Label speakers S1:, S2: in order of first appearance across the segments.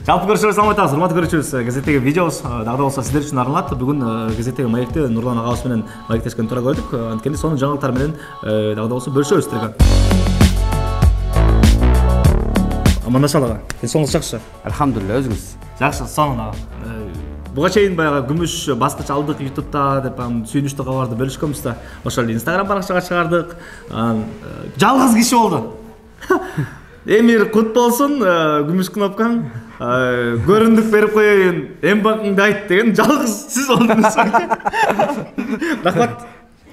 S1: Жалпы көрүүчүлөр салам айтабыз, урматтуу көрүүчүбүз. Газеттеги видеобуз дагы болсо сиздер үчүн арналат. Бүгүн газеттеги маекти Нурлан агабыз менен маектешкен туура көрдүк. Анткени сонун жаңылыктар менен дагы болсо бөлүшөбүз сиздерге. Амандашалы ага. Денсаулыгыңыз жакшы?
S2: Алхамдулилла, өзүңүз?
S1: Жакшы, сонун ага. Буга чейин баягы күмүш баскыч алдык YouTube'да деп сүйүнүчтүү кабарды бөлүшкөнбүз да. Ошол эле Instagram баракчага чыгардык. Жалгыз киши болду. Эмир кут болсун, күмүш кнопкаң, көрүндүк берип коеюн, эмбакыңды айт деген жалгыз сиз болдуңуз. Рахмат.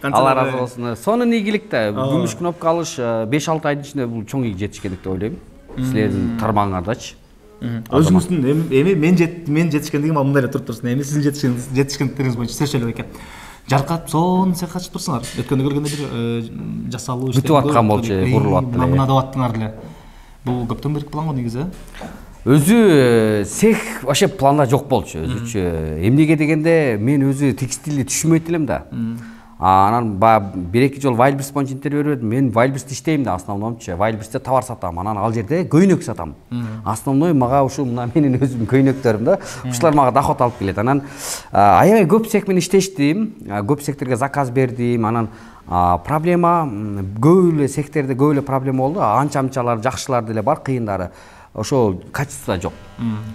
S2: Алла разы болсун. Сонун ийгилик да. Күмүш кнопка алыш 5-6 айдын ичинде бул чоң жетишкендик деп ойлойм. Силердин тармагыңардачы.
S1: Өзүңүздүн эми мен жетишкендигим мындай эле туруп турсун. Эми сиздин жетишкендиктериңиз боюнча сөзчөлөп экен. Жаркап сонун сыйга качып турсуңар. Өткөндө көргөндө бир жасалуу иштер
S2: бүтүп аткан болчу, бурулуп аттылар.
S1: Мына деп аттыңар деле. Бул көптөн берки план го негизи.
S2: Өзү цех вообще планда жок болчу өзүчө. Эмнеге дегенде мен өзү текстилди түшүнбөйт элем да. Анан бир эки жол Wildberries боюнча интервью бердим. Мен Wildberries'те иштейм да, основномчу. Wildberries'те товар сатам. Анан ал жерде көйнөк сатам. Основной мага ушул мына менин өзүмдүн көйнөктөрүм да. Ушулар мага доход алып келет. Анан аябай көп цех менен иштештим. Көп цехтерге заказ бердим. Анан проблема көп эле цехтерде көп эле проблема болду. Анча-анчалар жакшылар деле бар, кыйындары. Ошол качество жок.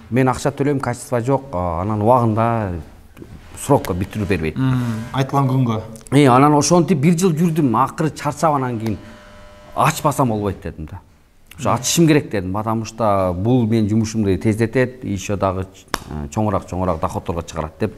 S2: Мен акча төлөйм, качество жок. Анан убагында срокко бүтүрүп бербейт.
S1: Айтылган күнгө.
S2: Анан ошентип бир жыл жүрдүм. Акыры чарчап анан кийин ачпасам болбойт дедим да. Ошо ачышым керек дедим. Потому что бул менин жумушумду тездетет, еще дагы чоңураак доходторго чыгарат деп.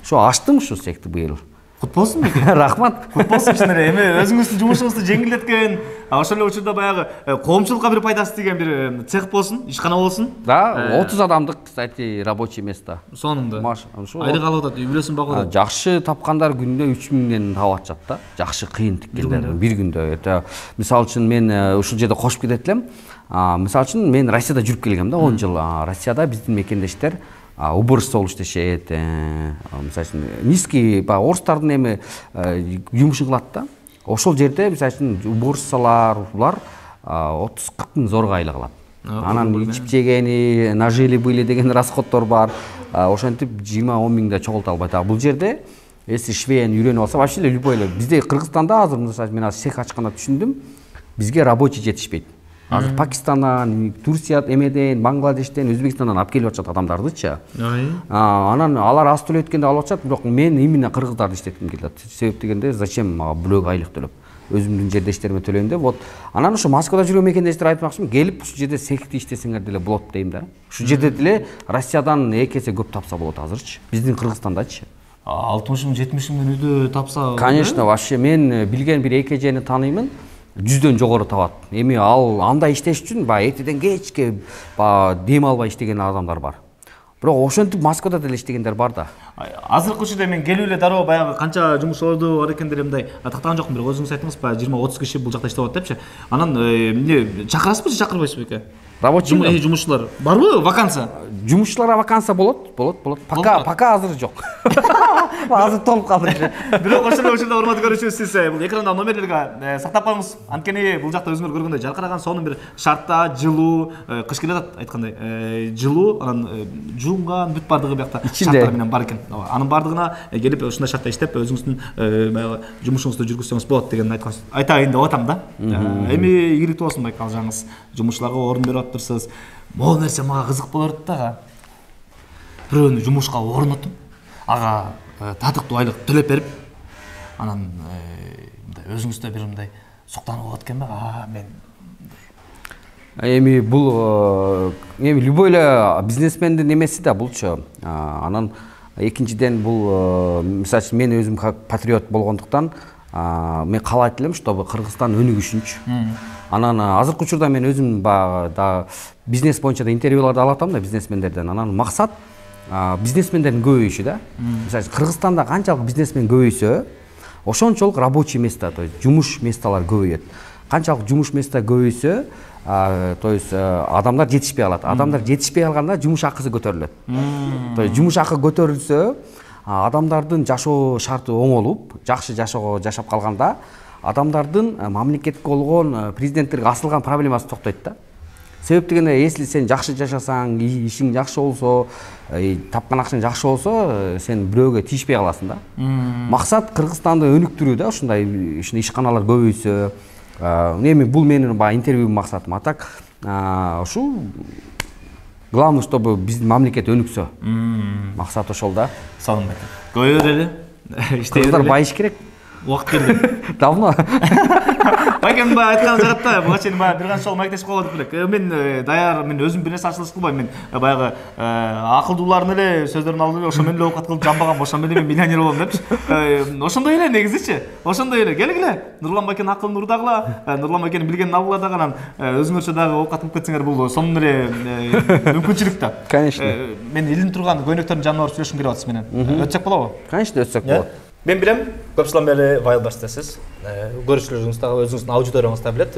S2: Ошо ачтым ушу цехти быйыл.
S1: Кут болсун беке.
S2: Рахмат.
S1: Кут болсун чын эле. Эми өзүңүздүн жумушуңузду жеңилдеткен, ошол эле учурда баягы коомчулукка бир пайдасы тийген бир цех болсун, ишкана болсун.
S2: Да, 30 адамдык, кстати, рабочий место.
S1: Сонунда.
S2: Айлык
S1: алып атат, үй бүлөсүн багып атат.
S2: Жакшы тапкандар күндө 3000ден таап атышат да. Жакшы кыйын тиккендер бир күндө. Мисалы үчүн мен ушул жерде кошуп кетет элем. Мисалы үчүн мен Россияда жүрүп келгем да, 10 жыл. Россияда биздин мекендештер уборщица болуп иштешет. Мисалы үчүн низкий орустардын эми жумушун кылат да. Ошол жерде мисалы үчүн уборщицалар булар 30-40 миң зорго айлык алат. Анан ичип жегени, нажили были деген расходдор бар. Ошентип 20-10 миңде чогулта албайт. Бул жерде если швейн үйрөнүп алса, вообще любой эле. Бизде Кыргызстанда азыр мисалы мен цех ачканда түшүндүм, бизге рабочий жетишпейт. Азыр Пакистандан, Турция эмеден, Бангладештен, Өзбекстандан алып келип атышат адамдардычы. Анан алар аз төлөйт экен деп алып атышат, бирок мен именно кыргыздарды иштетким келет. Себеп дегенде зачем мага бөлөк айлык төлөп? Өзүмдүн жерде иштериме төлөйм деп. Вот анан ошо Москвада жүргөн мекендештер айтмакчымын, келип ушул жерде цехти иштесеңер деле болот дейм да. Ушул жерде деле Россиядан эки эсе көп тапса болот азырчы. Биздин Кыргызстандачы.
S1: 60 миң, 70 миң үйдө тапса.
S2: Конечно, вообще мен билген бир эки эжени тааныймын. 100дөн жогору табат. Эми ал андай иштеш үчүн эртеден кечке дем албай иштеген адамдар бар. Бирок ошентип Москвада деле иштегендер бар да.
S1: Азыркы учурда мен келип эле дароо баягы канча жумушчуларды бар экендер мындай тактаган жокмун, бирок өзүңүз айттыңыз баягы 20-30 киши бул жакта иштеп атат депчи. Анан эмне чакырасызбы, чакырбайсызбы эке? Рабочий жумушчулар барбы, вакансия?
S2: Жумушчуларга вакансия болот. Пока азыр жок. Азыр толуп калды.
S1: Бирок ошол учурда урматтуу көрүүчүбүз, сиз бул экранда номерлерге сактап коюңуз. Анткени бул жакта өзүңөр көргөндөй жаркыраган сонун бир шартта, жылуу, кыш келет айткандай, жылуу, анан жуунган бүт бардыгы биякта шарттар менен бар экен. Анын бардыгына келип ушундай шартта иштеп өзүңүздүн баягы жумушуңузду жүргүзсөңүз болот деген айтайын деп атам да. Эми ийгиликтүү болсун байкал жаңыз жумушчуларга орун берип атыпсыз. Могу нерсе мага кызык болот да. Бирөөнү жумушка орнотуп, ага татыктуу айлык төлөп берип, анан мындай өзүңүздө бир мындай суктанып алат экен да. Мен
S2: эми бул любой эле бизнесмендин эмеси да булчу. Анан экинчиден бул мисалы үчүн мен өзүм патриот болгондуктан мен каалайт элем, чтобы Кыргызстан өнүгүшүнчү. Анан азыркы учурда мен өзүм да бизнес боюнча да интервьюларды алып атам да бизнесмендерден. Анан максат бизнесмендердин көбөйүшү да. Мисалы Кыргызстанда канчалык бизнесмен көбөйсө, ошончолук рабочий место, то есть жумуш месталар көбөйөт. Канчалык жумуш место көбөйсө, то есть адамдар жетишпей калат. Адамдар жетишпей калганда жумуш акысы көтөрүлөт. То есть жумуш акы көтөрүлсө, адамдардын жашоо шарты оңолуп, жакшы жашап калганда, адамдардын мамлекетке болгон президенттерге асылган проблемасы токтойт да. себеп дегенде если сен жакшы жашасаң, ишиң жакшы болсо, тапкан акчаң жакшы болсо, сен бирөөгө тийишпей каласың да. Максат Кыргызстанды өнүктүрүү да, ушундай ишканалар көбөйсө. Эми бул менин баягы интервью максатым. А так ушул главное, чтобы биздин мамлекет өнүксө. Максат ошол да.
S1: Салым байке. Көбөйө берели.
S2: Кыргыздар байыш керек.
S1: Убакыт келди.
S2: Давно.
S1: Байкем баягы айткан жагатта буга чейин баягы бир канча жолу маектешип калып элек. Мен даяр, мен өзүм бир нерсе ачылыш кылбайм. Мен баягы акылдуулардын эле сөздөрүн алып эле ошо менен эле оокат кылып жамбаган, ошо менен мен миллионер болом депчи. Ошондой эле негизичи. Ошондой эле. Келгиле. Нурлан байкенин акылын урдагыла, Нурлан байкенин билгенин алгыла дагы, анан өзүңөрчө дагы оокат кылып кетсеңер, бул сонун эле мүмкүнчүлүк да.
S2: Конечно.
S1: Мен илинип турган көйнөктөрдүн жанына барып сүйлөшкүм келип атат менен. Өтсөк болобу?
S2: Конечно, өтсөк болот.
S1: Мен билем, көп жылдан бери Wildberries'тесиз. Көрүүчүлөрүңүз дагы өзүңүздүн аудиторияңыз да билет.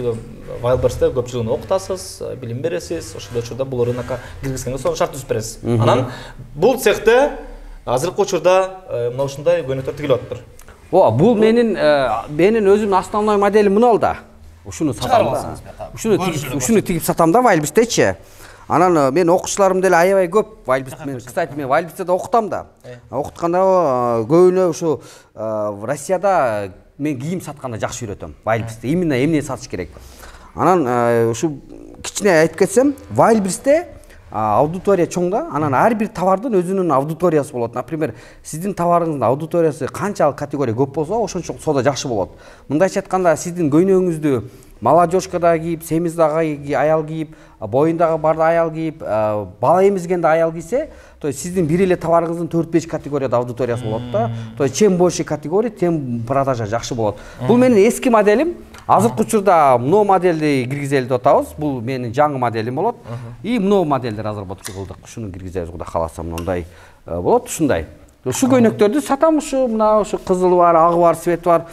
S1: Wildberries'те көп жыл окутасыз, билим бересиз, ошол учурда бул рынокко киргизгенге сонун шарт түзүп бересиз. Анан бул цехте азыркы учурда мына ушундай көйнөктөр тигилип атыптыр.
S2: Бул менин өзүмдүн основной моделим мына да. Ушуну сатам да. Ушуну тигип сатам да Wildberries'течи. Анан мен окуучуларым деле аябай көп Wildberries менен. Кстати, мен Wildberries'те окутам да. Окутканда көбүнө ушу Россияда мен кийим сатканда жакшы үйрөтөм. Wildberries'те именно эмне сатыш керек. Анан ушу кичине айтып кетсем, Wildberries'те аудитория чоң да. Анан ар бир товардын өзүнүн аудиториясы болот. Например, сиздин товарыңыздын аудиториясы канчалык категория көп болсо, ошончо соода жакшы болот. Мындайча айтканда, сиздин көйнөгүңүздү молодежкада кийип, семиздагы аял кийип, боюндагы барды аял кийип, бала эмизгенде аял кийсе, то есть сиздин бир эле товарыңыздын 4-5 категорияда аудиториясы болот да. То есть чем больше категория, тем продажа жакшы болот. Бул менин эски моделим. Азыркы учурда мына модельди киргизели деп атабыз. Бул менин жаңы моделим болот. И мына модельдер разработка кылдык. Ушуну киргизебиз, кудай кааласа, мындай болот, ушундай. Ушу көйнөктөрдү сатам, мына ушу кызылы бар, агы бар, цвети бар.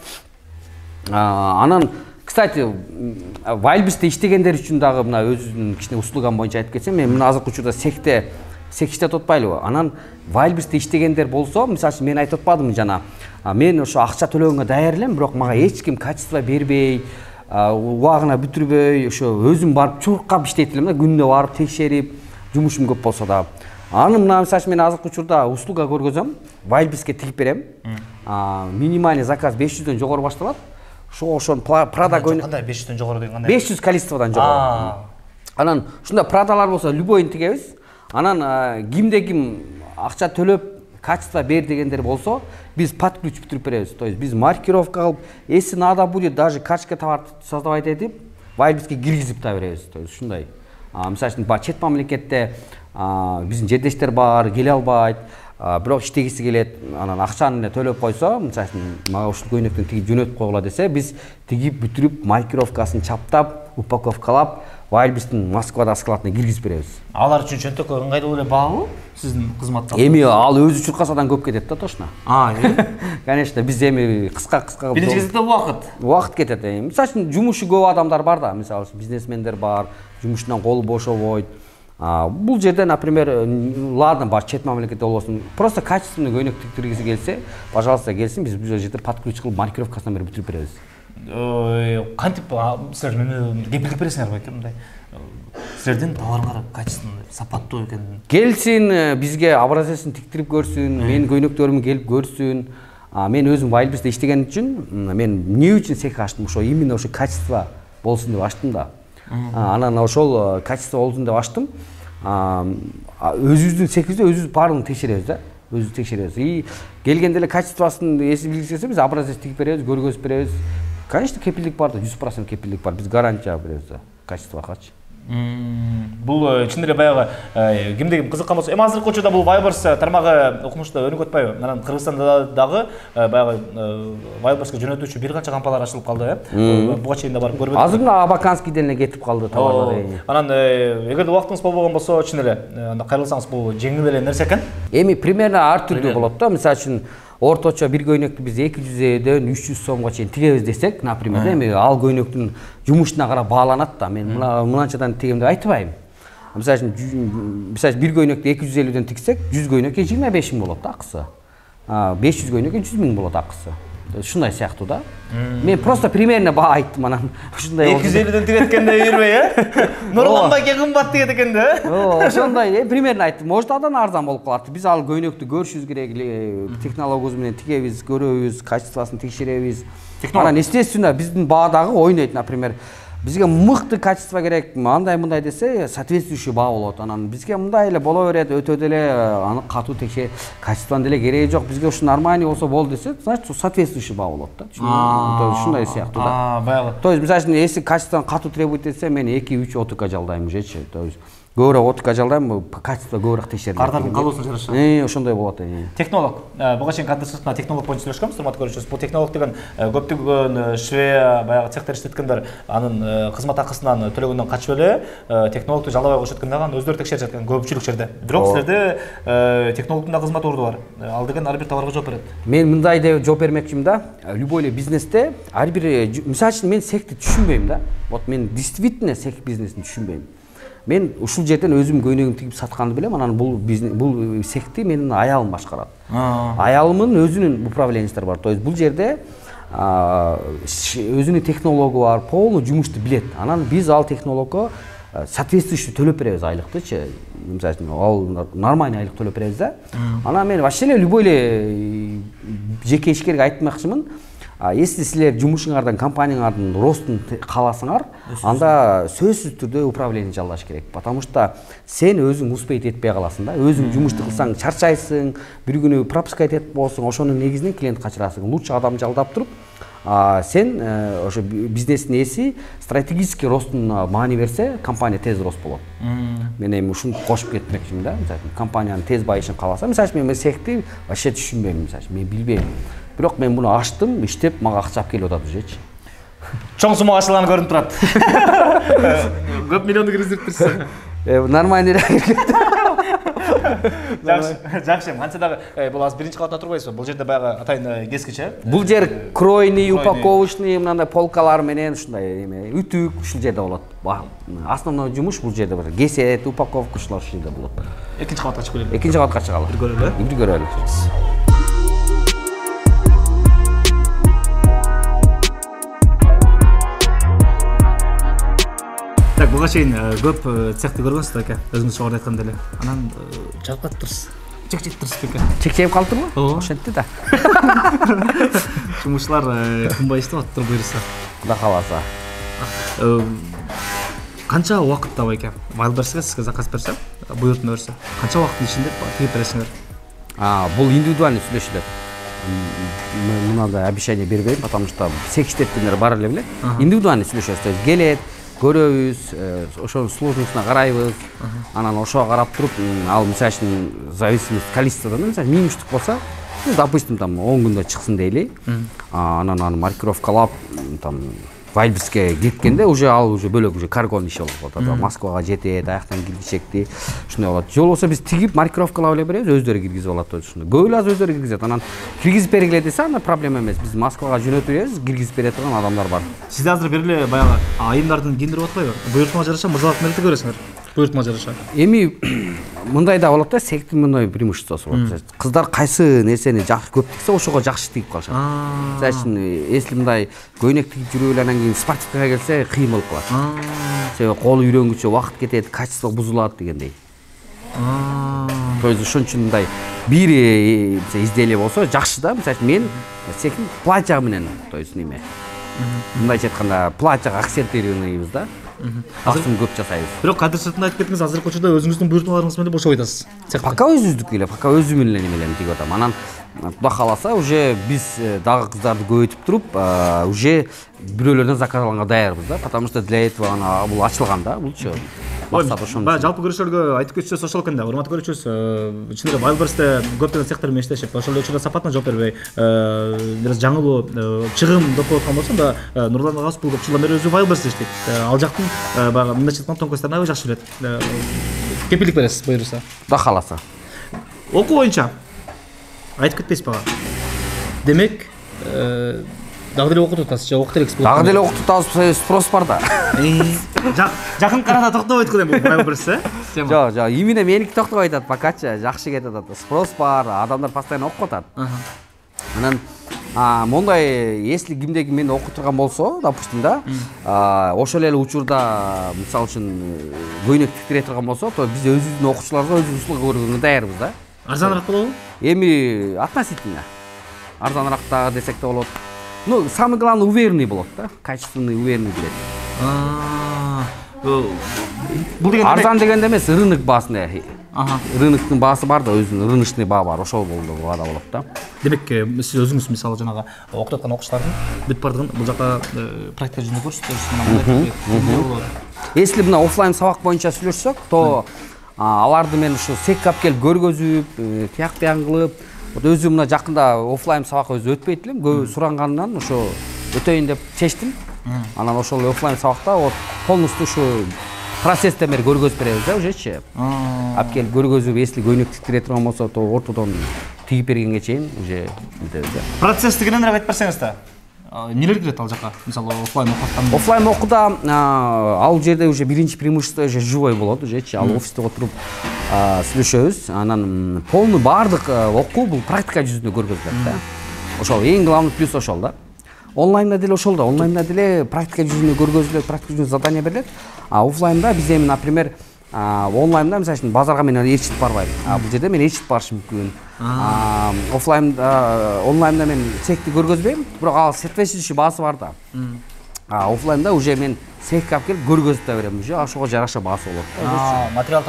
S2: Анан кстати, Wildberries'те иштегендер үчүн дагы мына өзүнүн кичине услугам боюнча айтып кетсем, мен мына азыркы учурда сек иштеп атпайлыбы? Анан Wildberries'те иштегендер болсо, мисалы үчүн мен айтып атпадымбы жана, мен ошо акча төлөгөнгө даяр элем, бирок мага эч ким качество бербей, убагына бүтүрбөй, ошо өзүм барып чуркап иштейт элем да, күнүнө барып текшерип, жумушум көп болсо да. Анан мына мисалы үчүн мен азыркы учурда услуга көргөзөм, Wildberries'ке тигип берем. Минимальный заказ 500дөн жогору башталат. Ошон Prada көйнөк
S1: кандай 500дөн жогору деген кандай?
S2: 500 количестводон жогору. Анан ушундай Pradалар болсо любойун тигебиз. Анан кимде ким акча төлөп качество бер дегендер болсо, биз под ключ бүтүрүп беребиз. То есть биз маркировка кылып, если надо будет даже качка товар создавать этип, Wildberries'ке киргизип да беребиз. То есть ушундай. Мисалы үчүн чет мамлекетте биздин жердештер бар, келе албайт. Бирок иштегиси келет, анан акчаны эле төлөп койсо, мисалы үчүн мага ушул көйнөктүн тигип жөнөтүп койгула десе, биз тигип бүтүрүп, маркировкасын чаптап, упаковкалап, Wildberries'тин Москвада складына киргизип беребиз.
S1: Алар үчүн чөнтөккө ыңгайлуу эле баалуу сиздин кызматтар?
S2: Эми ал өзү чуркасадан көп кетет да, точно. Конечно, биз эми кыска
S1: биринчи кезекте
S2: убакыт кетет. Мисалы үчүн жумушу көп адамдар бар да, мисалы үчүн бизнесмендер бар, жумушунан колу бошобойт. Бул жерде, например, ладно, бар чет мамлекетте болбосун, просто качественный көйнөк тиктиргиси келсе, пожалуйста, келсин, биз бул жерде под ключ кылып маркировкасынан бери бүтүрүп беребиз.
S1: Кантип силер мени кепилдик бересиңер байке, мындай силердин товарыңар качественный, сапаттуу экенин?
S2: Келсин, бизге образецин тиктирип көрсүн, менин көйнөктөрүмдү келип көрсүн. Мен өзүм Wildberries'те иштеген үчүн, мен эмне үчүн цех ачтым? Ошо именно ошо качество болсун деп ачтым да. Анан ошол качество болсун деп ачтым. Өзүбүздүн цехибизде өзүбүз баарын текшеребиз да. Өзүбүз текшеребиз. И келгенде эле качествосын эси билгисе, биз образец тигип беребиз, көргөзүп беребиз. Конечно, кепилдик бар да, 100% кепилдик бар. Биз гарантия беребиз да, качествогачы.
S1: Бул чын эле баягы кимде ким кызыккан болсо, эми азыркы учурда бул Wildberries тармагы укмушта өнүгүп атпайбы? Анан Кыргызстанда дагы баягы Wildberries'ке жөнөтүүчү бир канча компаниялар ачылып калды, буга чейин да барып көрбөдүм.
S2: Азыр Абаканскийден эле кетип калды товарлар.
S1: Анан эгерде убактыңыз болбогон болсо, чын эле анда кайрылсаңыз бул жеңил эле нерсе экен.
S2: Эми примерно ар түрдүү болот да. Мисалы үчүн орточо бир көйнөктү биз 200дөн 300 сомго чейин тигебиз десек, например, эми ал көйнөктүн жумушуна карап бааланат да. Мен мынанчадан тигем деп айтпайм. Мисалы үчүн бир көйнөктү 250дөн тиксек, 100 көйнөккө 25 миң болот да акысы. 500 көйнөккө 100 миң болот акысы. ушундай сыяктуу да. Мен просто примерно баа айттым, анан ушундай
S1: 250ден тиреткенде үйрбөй, нурланбайке кымбат деген экен да.
S2: Ошондой примерно айттым. Может, адан арзан болуп калат. Биз ал көйнөктү көрүшүбүз керек эле, технологиябыз менен тигебиз, көрөбүз, качествосын текшеребиз. Анан естественно биздин баа дагы ойнойт, например. Бизге мыкты качество керек, андай мындай десе, соответствующий баа болот. Анан бизге мындай эле боло берет, өтө деле аны катуу текше, качествонун деле кереги жок. Бизге ушу нормальный болсо болду десе, значит, соответствующий баа болот да. Ушундай сыяктуу да.
S1: Баягы.
S2: То есть, мисалы үчүн, если качествону катуу требует этсе, мен 2-3 ОТК жалдайм ужечи. То есть, көбүрөөк ОТК жалдайм, качество көбүрөөк текшерилет.
S1: Кардардын калуусун жараша.
S2: Ошондой болот.
S1: Технолог. Буга чейин кадр технолог боюнча сүйлөшкөнбүз, урматтуу көрүүчүбүз. Бул технолог деген көптөгөн швея, баягы цехтер иштеткендер анын кызмат акысынан төлөгөндөн качып эле технологду жалдабай коюшат экен дагы, өздөрү текшерип жаткан көпчүлүк жерде. Бирок силерде технологдун да кызмат орду бар. Ал деген ар бир товарга жооп берет.
S2: Мен мындай деп жооп бермекчимин да. Любой эле бизнесте ар бир, мисалы үчүн, мен цехти түшүнбөйм да. Вот мен действительно цех бизнесин түшүнбөйм. Мен ушул жерден өзүм көйнөгүмдү тигип сатканды билем, анан бул цехти менин аялым башкарат. Аялымдын өзүнүн управленчиси бар. То есть бул жерде өзүнүн технологу бар, полный жумушту билет. Анан биз ал технологго соответствующий төлөп беребиз айлыктычы. Мисалы үчүн, ал нормальный айлык төлөп беребиз да. Анан мен вообще эле любой эле жеке ишкерге айтмакчымын. Если силер жумушуңардан, компанияңардын ростун кааласаңар, анда сөзсүз түрдө управление жалдаш керек. Потому что сен өзүң успеть этпей каласың да. Өзүң жумушту кылсаң чарчайсың, бир күнү пропускать этип болсоң, ошонун негизинен клиент качырасың. Лучше адам жалдап туруп, сен ошо бизнестин ээси стратегический ростун маани берсе, компания тез рост болот. Мен эми ушуну кошуп кетмекчимин да. Компаниянын тез байышын кааласам, мисалы мен цехти вообще түшүнбөйм, мисалы мен билбейм. Бирок мен муну ачтым, иштеп, мага акча алып келип атат ужечи.
S1: Чоң сума ачылганы көрүнүп турат. Көп миллионду киргизип турсуң.
S2: Нормальный.
S1: Жакшы, канча дагы бул азыр биринчи кабатта турбайсызбы? Бул жерде баягы атайын кескиче.
S2: Бул жер кройный, упаковочный, мындай полкалар менен ушундай эме үтүк ушул жерде болот. Основной жумуш бул жерде бар. Кесет, упаковка ушулар ушул жерде болот.
S1: Экинчи кабатка чыгып келели.
S2: Экинчи кабатка чыгалы.
S1: Бир көрөлү.
S2: Бир көрөлү.
S1: Так, буга чейин көп цехти көргөнсүз аке, өзүңүз жогоруда айтканда эле. Анан жалпат турсуз. Чекчеп турсуз беке.
S2: Чекчеп калдырбы? Ошентти да.
S1: Жумушчулар кымбай иштеп атыптыр буюрса.
S2: Кудай кааласа.
S1: Канча убакыт табай экен? Вайлберске сизге заказ берсе, буйртма берсе, канча убакыттын ичинде тигип бересиңер?
S2: Бул индивидуальный сүйлөшүлөт. Мындай обещание бербейм, потому что цех иштеткендер бар эле билет. Индивидуальный сүйлөшөбүз, то есть келет, көрөбүз, ошонун сложностуна карайбыз. Анан ошого карап туруп, ал мисалы үчүн зависимость количестводан, мисалы 1000 штук болсо, допустим, там 10 күндө чыксын дейли. Анан аны маркировкалап, там Вайлберске кеткенде уже ал уже бөлөк уже каргонун иши болуп атат. Москвага жетет, аяктан киргизecekти. Ушундай болот. Жол болсо биз тигип маркировкалап эле беребиз, өздөрү киргизип алат ушундай. Көп эле өздөрү киргизет. Анан киргизип бергиле десе, анда проблема эмес. Биз Москвага жөнөтүп беребиз, киргизип бере турган адамдар бар.
S1: Сиз азыр бир эле баягы айымдардын кийиндирип атпайбы? Буйртмага жараша мырзалык менен көрөсүңөр. Буйртмага жараша.
S2: Эми мындай да болот да, цехтин мындай преимуществосу бар. Кыздар кайсы нерсени жакшы көп тиксе, ошого жакшы тигип калышат. Мисалы үчүн, если мындай көйнөк тигип жүрүп эле анан кийин спортивкага келсе, кыйын болуп калат. Себеби колу үйрөнгүчө убакыт кетет, качество бузулат дегендей. То есть ошон үчүн мындай бир изделие болсо жакшы да. Мисалы үчүн мен цехтин платья менен, то есть неме. Мындайча айтканда, платьяга акцентированныйбыз да. Аксын көп жасайбыз.
S1: Бирок кадр сыртында айтып кеттиңиз, азыркы учурда өзүңүздүн буйртмаларыңыз менен бошоп атасыз.
S2: Пока өзүбүздүкү эле, пока өзүм эле немелерин тигип атам. Анан Кудай кааласа, уже биз дагы кыздарды көбөйтүп туруп, уже бирөөлөрдөн заказ алганга даярбыз да, потому что для этого ана бул ачылган да, булчу. Максат ошон.
S1: Баягы жалпы көрүүчүлөргө айтып кетчүсөз ошол экен да, урматтуу көрүүчүбүз, ичинде Вайлберсте көптөгөн цехтер менен иштешип, ошол учурда сапатына жооп бербей, бир жаңылуу чыгым деп коюлган болсо да, Нурлан агабыз бул көп жылдан бери өзү Вайлберсте иштейт. Ал жактын баягы мындайча айтканда тонкостторун аябай жакшы билет. Кепилдик бересиз буюрса.
S2: Кудай кааласа.
S1: Окуу боюнча айтып кетпейсиз бага. Демек, дагы деле окутуп атасыз, же окуп элексиз?
S2: Дагы деле окутуп атабыз, спрос бар да.
S1: Жакын карата токтобойт го эми Вайлберс,
S2: Жок, именно меники токтобой атат, покачы жакшы кетип атат. Спрос бар, адамдар постоянно окуп атат. Анан Мондай если кимде ким мени окуй турган болсо, допустим да, ошол эле учурда мисалы үчүн көйнөк тиктире турган болсо, то биз өзүбүздүн окуучуларга өзүбүз услуга көргөнгө даярбыз да.
S1: Арзаныраак болобу?
S2: Эми относительно арзаныраак да десек да болот. Ну, самый главный уверенный болот да, качественный, уверенный келет.
S1: Бул деген
S2: арзан дегенде эмес, рынок баасында. Рыноктун баасы бар да, өзүнүн рыночный баа бар, ошол баада болот да.
S1: Демек, сиз өзүңүз мисалы жанагы окутуп аткан окуучулардын бүт бардыгын бул жака практика жүзүндө көрсөтөсүз.
S2: Если мына офлайн сабак боюнча сүйлөшсөк, то аларды мен ушу секке алып келип көргөзүп, тияк биян кылып, өзүм мына жакында офлайн сабак өзү өтпөйт элем, көп суранганынан ошо өтөйүн деп чечтим. Анан ошол офлайн сабакта полностью ушу процесстен бери көргөзүп беребиз да, ужечи. Алып келип көргөзүп, если көйнөк тиктире турган болсо, то ортодон тигип бергенге чейин уже мынтебиз да.
S1: Процесс дегенен айтып берсеңиз да. Нелер кирет ал жака? Мисалы офлайн окутканда.
S2: Офлайн окууда ал жерде уже биринчи преимущество уже живой болот, ужечи. Ал офисте отуруп сүйлөшөбүз. Анан полный баардык окуу бул практика жүзүндө көргөзүлөт да. Ошол эң главный плюс ошол да. Онлайнда деле ошол да. Онлайнда деле практика жүзүндө көргөзүлөт, практика жүзүндө задание берилет. Офлайнда биз эми, например, онлайнда мисалы үчүн базарга мен ээрчитип барбайм. Бул жерде мен ээрчитип барышым мүмкүн. Офлайнда, онлайнда мен цехти көргөзбөйм, бирок ал соответствующий баасы бар да. Офлайнда уже мен цехке алып келип көргөзүп да берем, уже ошого жараша баасы болот.
S1: Материал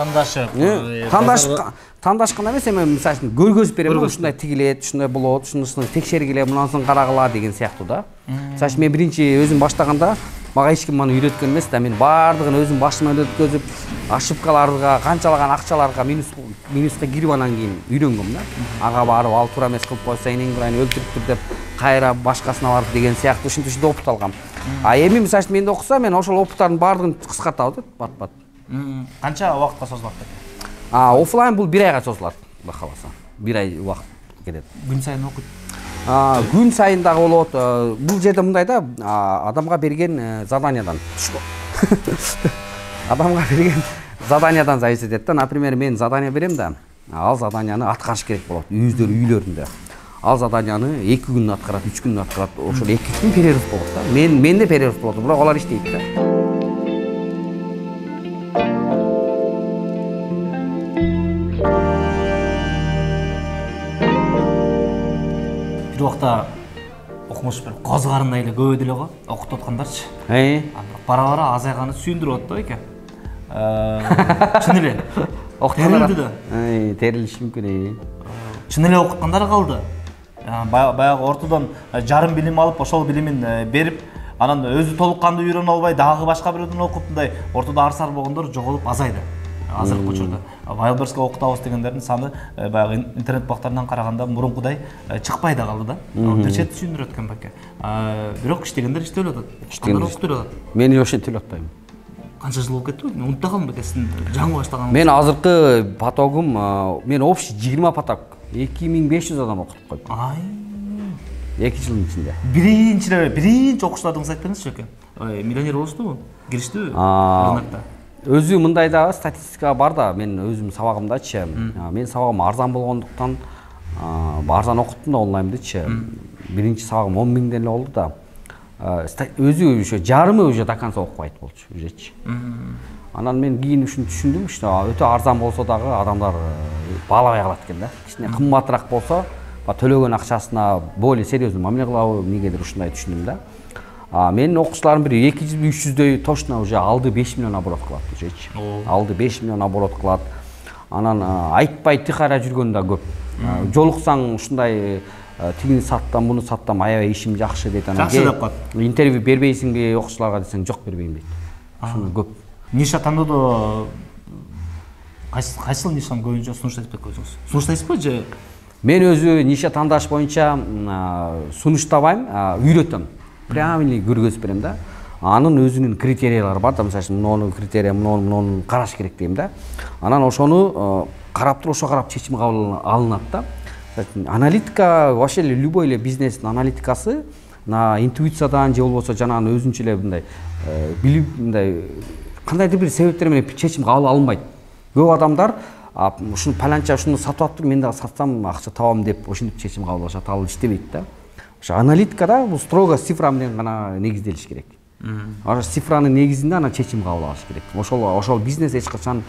S1: тандашып,
S2: тандашып гана эмес, эми мисалы үчүн көргөзүп берем, ушундай тигилет, ушундай болот, ушуну текшергиле, мунасын карагыла деген сыяктуу да. Мисалы үчүн мен биринчи өзүм баштаганда мага эч ким маны үйрөткөн эмес да, мен баардыгын өзүм башыман өткөзүп, ошибкаларга, канчалаган акчаларга минуска кирип анан кийин үйрөнгөм да. Ага барып, ал туура эмес кылып койсо энең кылайын өлтүрүптүр деп кайра башкасына барып деген сыяктуу ушинтип опыт алгам. Эми мисалы үчүн менде окуса, мен ошол опыттардын баардыгын кыскартабыз да, бат.
S1: Канча убакытка созулат деп?
S2: Офлайн бул 1 айга созулат, Кудай кааласа. 1 ай убакыт кетет.
S1: Күн сайын окуйт.
S2: Күн сайын дагы болот. Бул жерде мындай да, адамга берген заданиядан адамга берген заданиядан зависит этет да. Например, мен задание берем да, ал заданияны аткарыш керек болот өздөрү үйлөрүндө. Ал заданияны 2 күн аткарат, 3 күн аткарат. Ошол 2 күн перерыв болот да. Менде перерыв болот, бирок алар иштейт да.
S1: Бир убакта окумуш бир коз карындай эле көп деле го окутуп аткандарчы. Бара-бара азайганы сүйүндүрүп атты экен. Чын эле. Окуткандар да.
S2: Терилиш мүмкүн.
S1: Чын эле окуткандар калды. Баягы ортодон жарым билим алып, ошол билимин берип, анан өзү толук кандуу үйрөнө албай, дагы башка бирөөдөн окуп, мындай ортодо арсар болгондор жоголуп азайды. Азыркы учурда Wildbergs'ке окутабыз дегендердин саны баягы интернет бактарынан караганда мурункудай чыкпай да калды да. Бир чет түшүндүрөт экен баке. Бирок иштегендер иштеп атат. Иштегендер окутуп атат.
S2: Мен ошентип эле атпайм.
S1: Канча жыл болуп кетти? Мен унутта калдым беке, сиздин жаңы баштаган.
S2: Мен азыркы потогум, мен общий 20 поток 2500 адам окутуп койдум. 2 жылдын ичинде.
S1: Биринчи окуучулардыңыз айтып бериңизчи экен. Миллионер болуштубу? Кириштиби рынокто?
S2: Өзү мындай да статистика бар да, мен өзүм сабагымдачы. Мен сабагым арзан болгондуктан арзан окуттум да онлайндычы. Биринчи сабагым 10 000 эле болду да. Өзү ошо жарымы уже до конца окубайт болчу, ужечи. Анан мен кийин ушуну түшүндүм, что өтө арзан болсо дагы адамдар баалабай калат экен да. Кичине кымбатыраак болсо, төлөгөн акчасына более серьезный мамиле кылабы, эмнегедир ушундай түшүндүм да. Менин окуучуларым бир 200-300дөй точно уже алды 5 миллион оборот кылат, ужечи. Алды 5 миллион оборот кылат. Анан айтпай тыйкара жүргөн да көп. Жолуксаң ушундай тигини саттам, буну саттам, аябай ишим жакшы дейт. Анан
S1: жакшы деп коет.
S2: Интервью бербейсиңби окуучуларга десең, жок бербейм дейт. Ушуну көп.
S1: Ниша тандоодо кайсыл нишаны көбүнчө сунуштайсыз өзүңүз? Сунуштайсызбы же?
S2: Мен өзү ниша тандаш боюнча сунуштабайм, үйрөтөм. Правильный көргөзүп берем да. Анын өзүнүн критериялары бар да, мисалы муну критерия, муну караш керек дейм да. Анан ошону карап туруп, ошо карап чечим кабыл алынат да. Аналитика, вообще любой эле бизнестин аналитикасы на интуициядан же болбосо жанагы өзүнчө эле мындай билип, мындай кандайдыр бир себептер менен чечим кабыл алынбайт. Көп адамдар ушуну паланча ушуну сатып атыптыр, мен дагы сатсам акча табам деп ошентип чечим кабыл алышат, ал иштебейт да. ошо аналитикада бул строго цифра менен гана негизделиш керек. Ошо цифранын негизинде анан чечим кабыл алыш керек. Ошол бизнес эч качан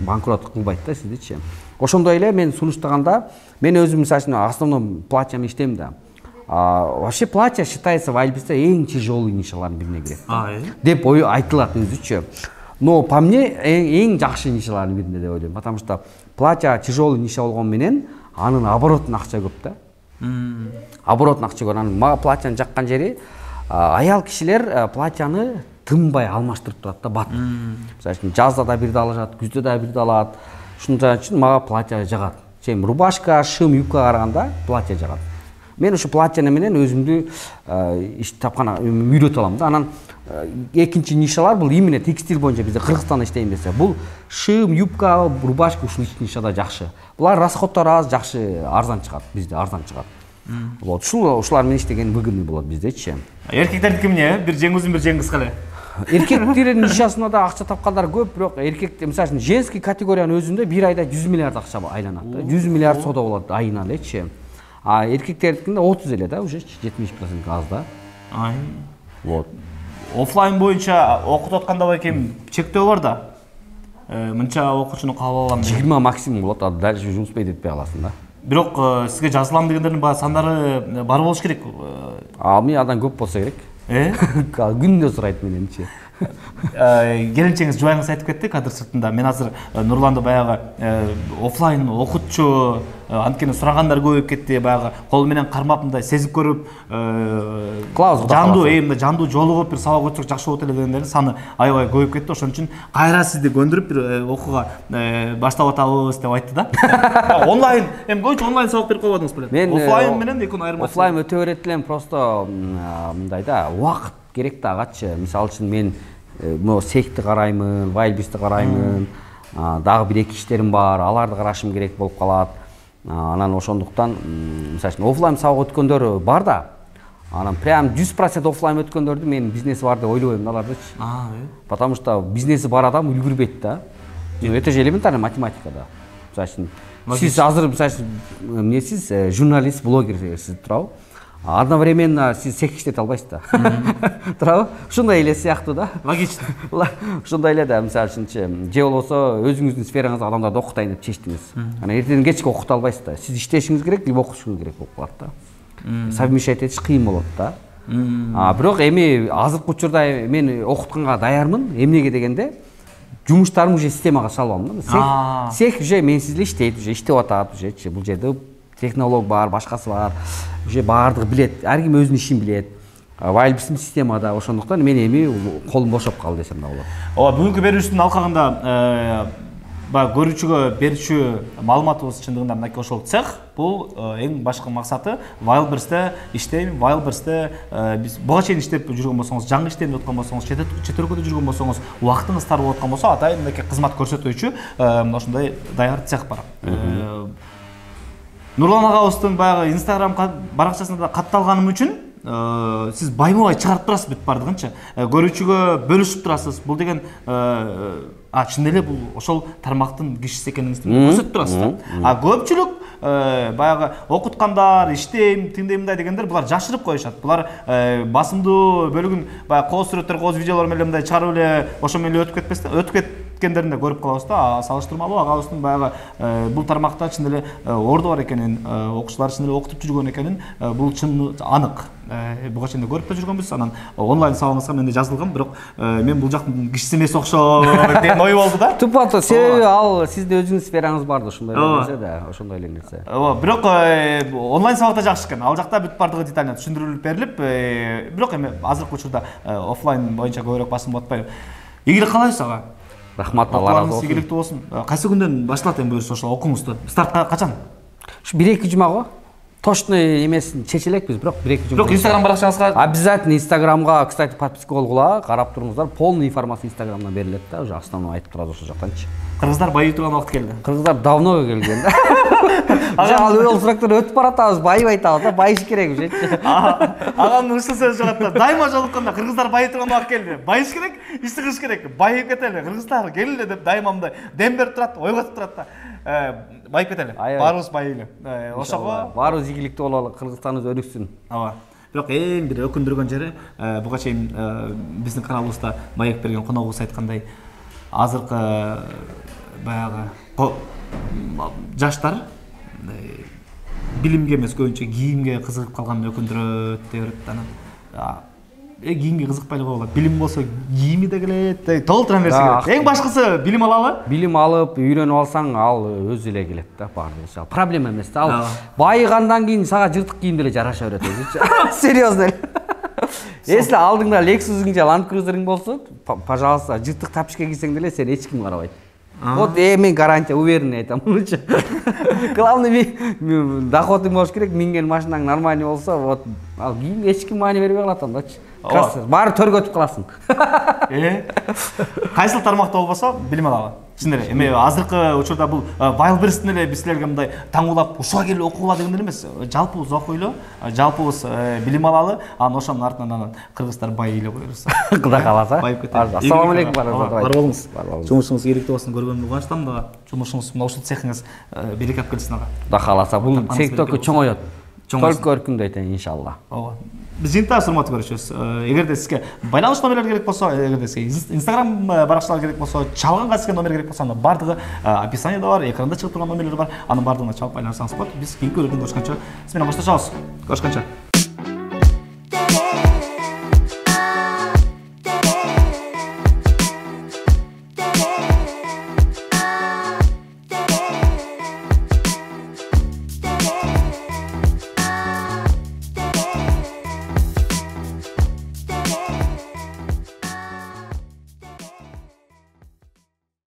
S2: банкрот кылбайт да сиздичи. Ошондой эле мен сунуштаганда мен өзүм мисалы үчүн основном платьями иштейм да. Вообще платья считается в Альбисте эң тяжелый нишалардын бирине кирет. Деп айтылат өзүчө. Но по мне эң жакшы нишалардын бирине деп ойлойм. Потому что платья тяжелый ниша болгон менен анын оборотун акча көп да. Оборотун акча көп. Анын мага платьяны жаккан жери аял кишилер платьяны тынбай алмаштырып турат да, бат. Мисалы үчүн жазда да бирди алышат, күздө да бирди алат. Ушунча үчүн мага платья жагат. Чем рубашка, шым, юбкага караганда платья жагат. Мен ушу платьяны менен өзүмдү иш тапкан үйрөтө алам да. Анан экинчи нишалар бул именно текстиль боюнча бизде Кыргызстанда иштейм десе, бул шым, юбка, рубашка ушул нишада жакшы. Булар расходдору аз, жакшы, арзан чыгат, бизде арзан чыгат. Вот ушулар менен иштеген выгодный болот биздечи.
S1: Эркектердики эмне? Бир жең узун, бир жең кыска эле.
S2: Эркектердин нишасында да акча тапкандар көп, бирок эркек, мисалы үчүн, женский категориянын өзүндө бир айда 100 миллиард акча айланат да. 100 миллиард соода болот айына элечи. А эркектердикинде 30 эле да, уже 70% аз да. Вот.
S1: Офлайн боюнча окутуп атканда байкем чектөө бар да. Мынча окуучуну кабыл алам.
S2: 20 максимум болот, а дальше жұмыспай жетпей аласың да.
S1: Бирок сизге жазылам дегендердин баары сандары бар болуш керек.
S2: Мен адан көп болсо керек. Күндө сурайт мененчи.
S1: Келинчеңиз жубайыңыз айтып кетти кадр сыртында. Мен азыр Нурланды баягы офлайн окутчу анткени сурагандар көбөйүп кетти, баягы кол менен кармап мындай сезип көрүп, жандуу жолугуп бир сабак өтсөк жакшы болот эле дегендердин саны аябай көбөйүп кетти. Ошон үчүн кайра сизди көндүрүп бир окууга баштап атабыз деп айтты да. Онлайн, эми көбүнчө онлайн сабак берип койбодуңуз беле?
S2: Мен
S1: офлайн менен экөөнүн айырмасы.
S2: Офлайн өтө берет элем, просто мындай да, убакыт керек да агачы. Мисалы үчүн мен могу секти караймын, Вайлбисти караймын, дагы бир эки иштерим бар, аларды карашым керек болуп калат. Анан ошондуктан мисалы үчүн офлайн сабак өткөндөр бар да. Анан прям 100% офлайн өткөндөрдү мен бизнеси бар деп ойлобойм алардычы. Потому что бизнеси бар адам үлгүрбөйт да. Это же элементарный математика да. Мисалы үчүн сиз азыр мисалы үчүн эмнесиз, журналист, блогер сиз туурабы? Одновременно сиз цех иштете албайсыз да. Туурабы? Ушундай эле сыяктуу да.
S1: Логично.
S2: Ушундай эле да, мисалы үчүнчү, же болбосо өзүңүздүн сфераңызда адамдарды окутайын деп чечтиңиз. Анан эртеден кечке окута албайсыз да. Сиз иштешиңиз керек, либо окутушуңуз керек болуп калат да. Совмещать этиш кыйын болот да. Бирок эми азыркы учурда мен окутканга даярмын. Эмнеге дегенде, жумуштарым уже системага салып алдым да. Цех уже менсиз эле иштейт, уже иштеп атат, ужечи. Бул жерде технолог бар, башкасы бар. Уже баардыгы билет, ар ким өзүнүн ишин билет. Вайлбистин системада, ошондуктан мен эми колум бошоп калды десем да болот.
S1: Бүгүнкү берүүбүздүн алкагында көрүүчүгө берүүчү маалыматыбыз чындыгында мынакей ошол цех. Бул эң башкы максаты Вайлбистте иштейм, Вайлбистте биз буга чейин иштеп жүргөн болсоңуз, жаңы иштейм деп аткан болсоңуз, чет өлкөдө жүргөн болсоңуз, убактыңыз тар болуп аткан болсо, атайын мынакей кызмат көрсөтүүчү ошондой даяр цех бар. Нурлан агабыздын баягы Instagram баракчасында катталганым үчүн сиз байма-бай чыгарып турасыз бүт бардыгынча. Көрүүчүгө бөлүшүп турасыз. Бул деген чын эле бул ошол тармактын кишиси экениңизди көрсөтүп турасыз. Көпчүлүк баягы окуткандар, иштейм, тиндей мындай дегендер булар жашырып коюшат. Булар басымдуу бөлүгүн баягы кооз сүрөттөр, кооз видеолор менен мындай чыгарып эле ошо менен өтүп кетпестен, өтүп кеткендерин да көрүп калабыз да. Салыштырмалуу агабыздын баягы бул тармакта чын эле орду бар экенин, окуучулар чын эле окутуп жүргөн экенин бул чын анык. Буга чейин көрүп да жүргөнбүз. Анан онлайн сабагыңызга мен да жазылгам, бирок мен бул жактын кишиси эмес окшойт деген ой болду да.
S2: Тупо себеби ал сиздин өзүңүз сфераңыз бар да, ошондой нерсе да, ошондой эле нерсе.
S1: Бирок онлайн сабакта жакшы экен. Ал жакта бүт бардыгы детально түшүндүрүлүп берилип, бирок эми азыркы учурда офлайн боюнча көбүрөөк басым атпайбы. Ийгилик каалайбыз ага.
S2: Рахмат, Алла разы болсун.
S1: Ийгиликтүү болсун. Кайсы күндөн башталат эми буюрса ошол окууңузду? Стартка качан?
S2: Ушу 1-2 жума го. Точно эмесин чече элекпиз, бирок 1-2 жума.
S1: Бирок Instagram баракчаңызга
S2: обязательно Instagramга, кстати, подписка болгула, карап туруңуздар. Полный информация Instagramдан берилет да, уже основной айтып турат ошол жактанчы.
S1: Кыргыздар байый турган убакыт келди.
S2: Кыргыздар давно келген да. Ал ол сурактан өтүп баратабыз, байып айтабыз, байыш керекпи.
S1: Агамдын ушул сөзү жагат да. Дайыма жолукканда кыргыздар байып турган убакыт келди. Байыш керек, иш кылыш керек. Байып кетели, кыргыздар келели деп дайыма мындай дем берип турат, ойготуп турат да. Байып кетели. Баарыбыз байыйлы. Ошого
S2: баарыбыз ийгиликтүү бололу, Кыргызстаныбыз өнүксүн.
S1: Ооба. Бирок эң бир өкүндүргөн жери буга чейин биздин каналыбызда маек берген коногубуз айткандай, азыркы баягы жаштар билимге эмес көбүнчө кийимге кызыгып калганын өкүндүрөт деп берет. Анан кийимге кызыкпай эле койгула. Билим болсо кийими да келет, толтура нерсе келет. Эң башкысы билим алалы.
S2: Билим алып, үйрөнүп алсаң, ал өзү эле келет да, баардыгы. Проблема эмес да. Ал байыгандан кийин сага жыртык кийим деле жараша берет өзүчө. Серьезно эле. Если алдыңда Lexus'ың же Land Cruiser'ың болсо, пожалуйста, жыртык тапочка кийсең деле сени эч ким карабайт. Вот мен гарантия уверенный айтам мынча. Главный доходың болуш керек, минген машинаң нормальный болсо, вот ал кийим эч ким маани бербей калат андачы. Баары төргө өтүп каласың.
S1: Кайсыл тармакта болбосо билим алалы. Чын эле. Эми азыркы учурда бул Wildberries'тен эле биз силерге мындай таңуулап ушуга келип окугула дегендер эмес. Жалпыбыз окуйлу, жалпыбыз билим алалы, анан ошонун артынан кыргыздар байый эле коебуз.
S2: Кудай кааласа. Ассалам алейкум
S1: баарыңызга. Бар болуңуз. Жумушуңуз ийгиликтүү болсун, көргөнүмө кубанычтамын дагы. Жумушуңуз мына ушул цехиңиз береке алып келсин ага.
S2: Кудай кааласа, бул сектөккө чоңойот. Только өркүндөйт иншалла.
S1: Ооба. Биз жыйынтыгы урматтуу көрүүчүбүз. Эгерде сизге байланыш номерлери керек болсо, эгерде сизге Instagram баракчалары керек болсо, чалганга сизге номер керек болсо, анын бардыгы описаниеда бар, экранда чыгып турган номерлер бар. Анын бардыгына чалып байланышсаңыз болот. Биз кийинки көрүүдөн көрүшкөнчө, сиз менен башташабыз. Көрүшкөнчө.